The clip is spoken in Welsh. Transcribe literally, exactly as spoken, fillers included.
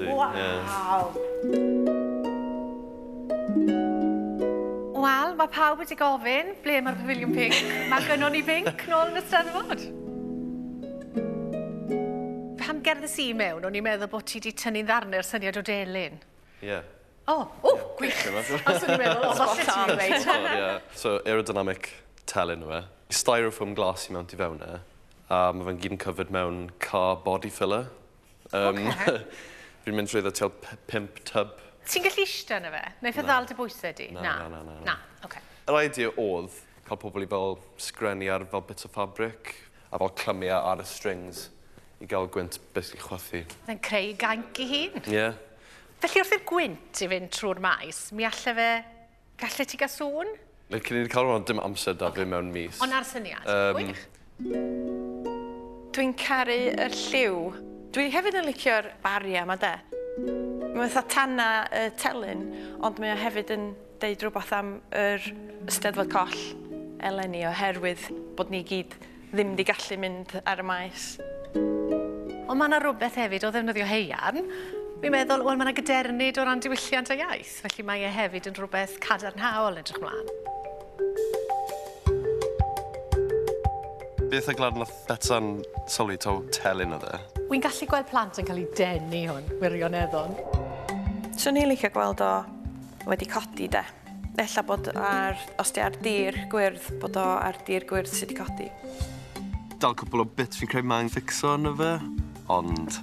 Waw! Wel, mae pawb wedi gofyn ble mae'r pafiliwn pinc. Mae gynnon ni pinc nôl yn y Steddfod. Pan gerddes i mewn, o'n i'n meddwl bod ti wedi tynnu'n ddarnau'r syniad o delyn. Ie. Yeah. O, o, gwych! Os o'n i'n meddwl, o, falle ti'n dweud. Ie. So, aerodynamic telyn yw e. Styrofoam glas i mewn tu fewn e. A mae fe'n gyd yn covered mewn car body filler. Um, Ocê. Fi'n mynd trwy tua pump tub. Ti'n gallu eistedd yna fe? Neu Na. ddal dy bwysau di? Na, na, na, na, Na, oce. Yr idea oedd cael pobl i fel sgrennu ar fel bits o fabric a fel clymu ar y strings i gael gwynt basically chwythu. Fe'n creu gainc i hun. Ie. Yeah. Felly wrth i'r gwynt i fynd trwy'r maes, mi alle fe... Galle ti gael sŵn? Like, cyn i ni cael hwnna, dim amser da fi mewn mis. Ond ar syniad. Yym, Gwych. Dwi'n caru yr lliw. Dwi hefyd yn licio'r baria yma de. Mae fatha tana y telyn, ond mae o hefyd yn deud rhywbeth am yr Steddfod Coll eleni oherwydd bod ni gyd ddim wedi gallu mynd ar y maes. Ond mae yna rhywbeth hefyd o ddefnyddio haearn. Fi'n meddwl, wel, mae yna gadernid o ran diwylliant a iaith, felly mae e hefyd yn rhywbeth cadarnhaol edrych mlaen. Beth y glad nath Betsan sylwi taw telyn oedd e? Wy'n gallu gweld plant yn cael eu denu hwn, wirioneddol. Swn i'n licio gweld o wedi codi de. Ella bod ar, os di ar dir gwyrdd, bod o ar dir gwyrdd sydd wedi codi. Dal cwpl o bits fi'n credu mae'n fixo yna fe, ond